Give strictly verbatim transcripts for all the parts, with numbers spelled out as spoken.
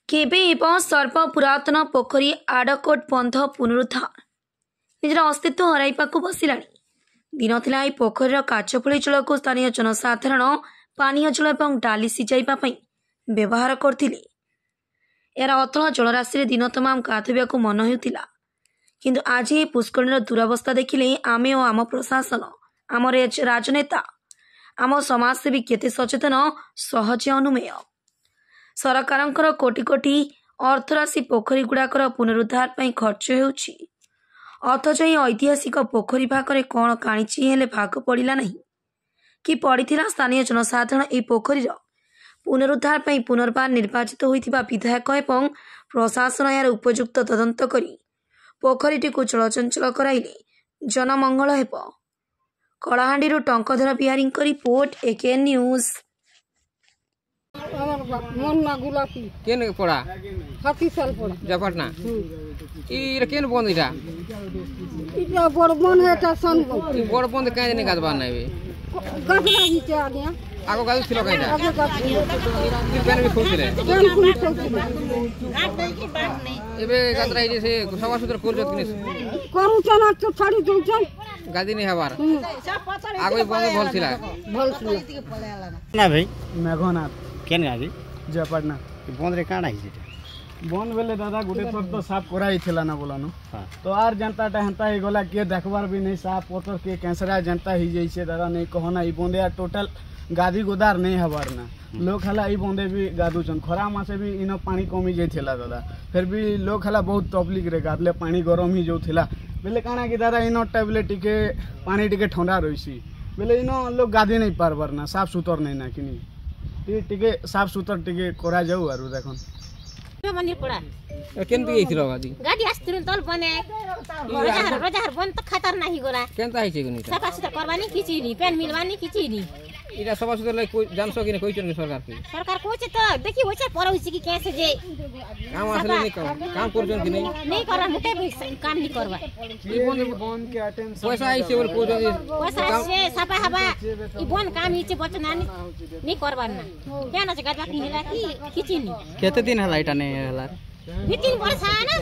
କେବେ ହେବ ସର୍ବ ପୁରାତନ ପୋଖରୀ ଆଡ଼କୋଟ ବନ୍ଧ ପୁନରୁଦ୍ଧାର? ନିଜର ଅସ୍ତିତ୍ୱ ହରାଇବାକୁ ବସିଲାଣି। ଦିନ ଥିଲା ଏହି ପୋଖରୀର କାଚଫୁଳି ଜଳକୁ ସ୍ଥାନୀୟ ଜନସାଧାରଣ ପାନୀୟ ଜଳ ଏବଂ ଡାଲି ସିଝାଇବା ପାଇଁ ବ୍ୟବହାର କରୁଥିଲେ। ଏହାର ଅତଳ ଜଳରାଶିରେ ଦିନ ତମାମ ଗାଧୋଇବାକୁ ମନ ହେଉଥିଲା। କିନ୍ତୁ ଆଜି ଏହି ପୁଷ୍କରିଣୀର ଦୁରବସ୍ଥା ଦେଖିଲେ ଆମେ ଓ ଆମ ପ୍ରଶାସନ, ଆମ ରାଜନେତା, ଆମ ସମାଜସେବୀ କେତେ ସଚେତନ ସହଜେ ଅନୁମେୟ। ସରକାରଙ୍କର କୋଟି କୋଟି ଅର୍ଥରାଶି ପୋଖରୀ ଗୁଡ଼ାକର ପୁନରୁଦ୍ଧାର ପାଇଁ ଖର୍ଚ୍ଚ ହେଉଛି, ଅଥଚ ଏହି ଐତିହାସିକ ପୋଖରୀ ଭାଗରେ କ'ଣ କାଣିଚି ହେଲେ ଭାଗ ପଡ଼ିଲା ନାହିଁ କି ପଡ଼ିଥିଲା। ସ୍ଥାନୀୟ ଜନସାଧାରଣ ଏହି ପୋଖରୀର ପୁନରୁଦ୍ଧାର ପାଇଁ ପୁନର୍ବାର ନିର୍ବାଚିତ ହୋଇଥିବା ବିଧାୟକ ଏବଂ ପ୍ରଶାସନ ଏହାର ଉପଯୁକ୍ତ ତଦନ୍ତ କରି ପୋଖରୀଟିକୁ ଚଳଚଞ୍ଚଳ କରାଇଲେ ଜନମଙ୍ଗଳ ହେବ। କଳାହାଣ୍ଡିରୁ ଟଙ୍କଧର ବିହାରୀଙ୍କ ରିପୋର୍ଟ, ଏକେଏନ୍ ନ୍ୟୁଜ୍। ମୋର ନା ଗୁଲାପି। କେନ୍ ପଡ଼ା? ହାତୀଶାଲ ପଡ଼ା। ଜୟପାଟଣା। ଇଟା କେନ୍ ବନ୍ଦ ଇଟା? ଇଟା ବଡ଼ ବନ୍ଦ, ଏଟା ସାନ ବନ୍ଦ। ଇ ବଡ଼ ବନ୍ଦ କାଇଁ ନାଇଁ ଗାଧବାର ନାଇଁ? ଗାଧଲା ହେଇଛେ ଆଜ୍ଞା। ଆଗ ଗାଧୁଥିଲ କାଇଁଟା? ଆଗେ ଗାଧୁଥିଲେ। ପେନ୍ ବି ଖୋଉଥିଲେ? ପେନ୍ ପୁଣି ଖାଉଥିଲେ। ଏବେ ଗାଧରା ହେଇছে, ସେ ସଫା ସୁତର କରୁଛନ୍ କି ନାଇଁ? କରୁଛନ୍, ତ ଛାଡ଼ି ଦଉଛନ୍। ଗାଧି ନାଇଁ ହେବାର। ଆଗ ଇ ବନ୍ଦ ଭଲ ଥିଲା। ଭଲ ଥିଲା। ନା ଭାଇ? ମେଘନାଥ। କେନ୍ ଗାଁ କି? ଜୟପାଟଣା। ବନ୍ଦରେ କାଣା ହେଇଛି ଏଟା? ବନ୍ଦ ବେଲେ ଦାଦା, ଗୋଟେ ଥର ତ ସାଫ କରା ହେଇଥିଲା ନା ବୋଲାନୁ। ହଁ। ତ ଆର୍ ଯେନ୍ତାଟା ହେନ୍ତା ହେଇଗଲା, କିଏ ଦେଖବାର ବି ନେଇ। ସାଫ ପତର କିଏ କେଁସରା ଯେନ୍ତା ହେଇଯାଇଛେ ଦାଦା, ନେଇ କହନା। ଇ ବନ୍ଦେ ଆର୍ ଟୋଟାଲ ଗାଧି ଗୋଦାର ନେଇ ହେବାର ନା। ଲୋକ ହେଲା ଇ ବନ୍ଦେ ବି ଗାଧୁଛନ୍। ଖରା ମାସେ ବି ଇନ ପାଣି କମି ଯାଇଥିଲା ଦାଦା, ଫେର୍ ବି ଲୋକ ହେଲା ବହୁତ ତକଲିଫରେ ଗାଧଲେ, ପାଣି ଗରମ ହେଇଯାଉଥିଲା। ବେଲେ କାଣା କି ଦାଦା, ଇନଟା ବେଲେ ଟିକେ ପାଣି ଟିକେ ଥଣ୍ଡା ରହିସି ବେଲେ ଇନ ଲୋକ ଗାଧି ନେଇ ପାରବାର ନା। ସାଫ ସୁତର ନେଇ ନା କିନି, ଟିକେ ଟିକେ ସାଫ ସୁତର ଟିକେ କରାଯାଉ। ଆରୁ ଦେଖନ୍। ମନ୍ଦିର ପଡ଼ା। କେମିତି ହେଇଥିଲ ଗାଧି? ଗାଡି ଆସିଥିଲୁ ତଲ ବନେ ରଜାହାର ରଜାହାର ବନ ତ ଖାତାର ନାହିଁ ଗଲା। କେନ୍ତା ହେଇছে ଗୁନି? ସଫା ସୁତର କରବାନି କିଛି ନି, ପେନ୍ ମିଲବାନି କିଛି ନି। ଇଟା ସଫା ସୁତର ଲାଗି ଜାନସ କି କହିଛନ୍ କି ସରକାର କି? ସରକାର କହୁছে ତ, ଦେଖି ହଉছে ପର ହଉছে କି କେସେ ଯେ କାମ ଆସିଲେ ନାଇଁ କାମ କାମ କରୁଛନ୍ କି ନାଇଁ? ନାଇଁ କରବା, ମୁଟେ ବି କାମ ନି କରବା। ଇ ବନ୍ଦ ବନ୍ଦ କେ ଆଟେନସନ ପଇସା ଆଇছে ବୋଲି କହୁଛନ୍ତି। ପଇସା ଆସିছে, ସଫା ହବା ଇ ବନ କାମ ହେଇছে ବଚନା ନି ନି କରବାର ନା। କେନ ଅଛି ଗାଧବା କି ହେଲା କି କିଛି ନି। କେତେ ଦିନ ହେଲା ଏଇଟା ନେଇ ହେଲା? ଦୁଇ ତିନ ବର୍ଷ ନା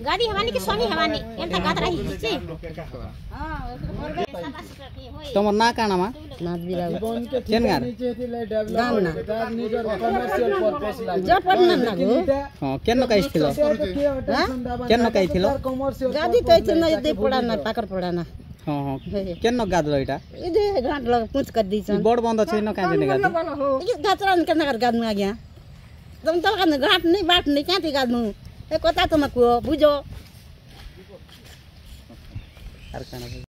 ଗାଦି ହେବାନି କି ଶନି ହେବାନି, ଏନ୍ତା ଗାଦରା ହେଇଛି। ତମର ନାଁ କାଣା ମା? କେନ୍ ଗାଁ? ହଁ, କେନ୍ ନକାଇଥିଲ? କେନ୍ ନକାଇଥିଲ? ଗାଧି ତ ଏଇਥੇ ନା ଦେ ପଡ଼ା ନା ପାକର ପଡ଼ା ନା। ହଁ ହଁ, କେନ୍ ନ ଗାଧଲ ଏଇଟା? ଏ ଯେ ଘାଟ ଲଗ ପୁଞ୍ଚ କରି ଦେଇଛନ୍। ବଡ଼ ବନ୍ଦ ଅଛି, ଇନ କାଇଁ ଦେନେ ଗାଧି? ଏ ଗାତରା କେନ୍ତା କରି ଗାଧମୁ ଆଜ୍ଞା? ତମ ତ ଘାଟ ନେଇ ବାଟ ନେଇ କାଁଥି ଗାଧମୁ? ଏ କଥା ତମେ କୁହ, ବୁଝ। ଆର କାଣା?